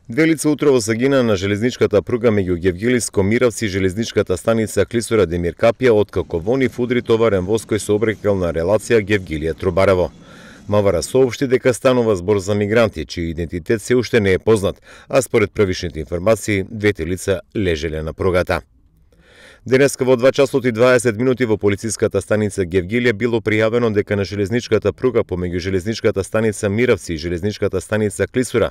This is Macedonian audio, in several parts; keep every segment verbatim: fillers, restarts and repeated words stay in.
Две лица утрово загина на железничката пруга меѓу Гевгелиско Миравци и железничката станица Клисура Демир Капија, откако во нив удри товарен воз кој сообраќајна релација Гевгелија-Трубарево. Мавара соопшти дека станува збор за мигранти, чиј идентитет се уште не е познат, а според првичните информации, двете лица лежеле на пругата. Денеска во два часот и дваесет минути во полициската станица Гевгелија било пријавено дека на железничката пруга помеѓу железничката станица Миравци и железничката станица Клисура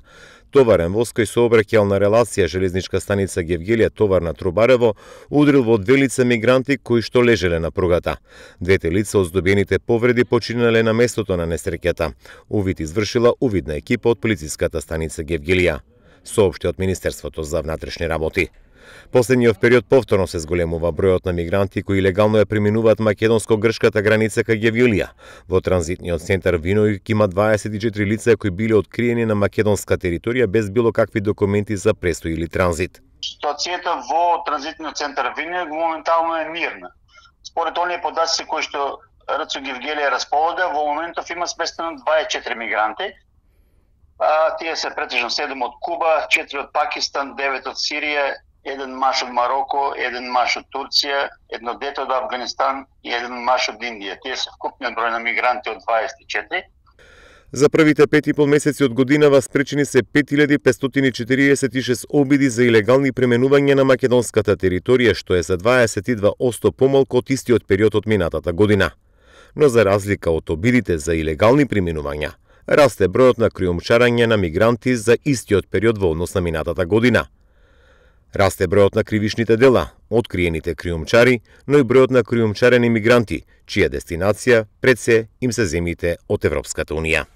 товарен воз кој сообраќајал на релација железничка станица Гевгелија товарна Трубарево удрил во две лица мигранти кои што лежеле на пругата. Двете лица од здобиените повреди починале на местото на несреќата. Увид извршила увидна екипа од полициската станица Гевгелија, соопшти од Министерството за внатрешни работи. Последниот период повторно се зголемува бројот на мигранти кои легално ја преминуваат македонско-грчката граница кај Гевгелија. Во транзитниот центар Виновик има дваесет и четири лица кои биле откриени на македонска територија без било какви документи за престој или транзит. Ситуацијата во транзитниот центар Виновик моментално е мирна. Според оние податоци кои што РЦ Гевгелија располага, во моментов има сместено дваесет и четири мигранти. А, тие се претежно седум од Куба, четири од Пакистан, девет од Сирија, еден маж од Мароко, еден маж од Турција, едно дете од Афганистан и еден маж од Индија. Тие се вкупниот број на мигранти од дваесет и четири. За првите пет и пол месеци од годинава спречени се пет илјади петстотини четириесет и шест обиди за илегални преминувања на македонската територија, што е за дваесет и два одсто помалку од истиот период од минатата година. Но за разлика од обидите за илегални преминувања, расте бројот на криумчарање на мигранти за истиот период во однос на минатата година. Расте бројот на кривишните дела, откриените криумчари, но и бројот на криумчарени мигранти, чија дестинација пред се им се земјите од Европската унија.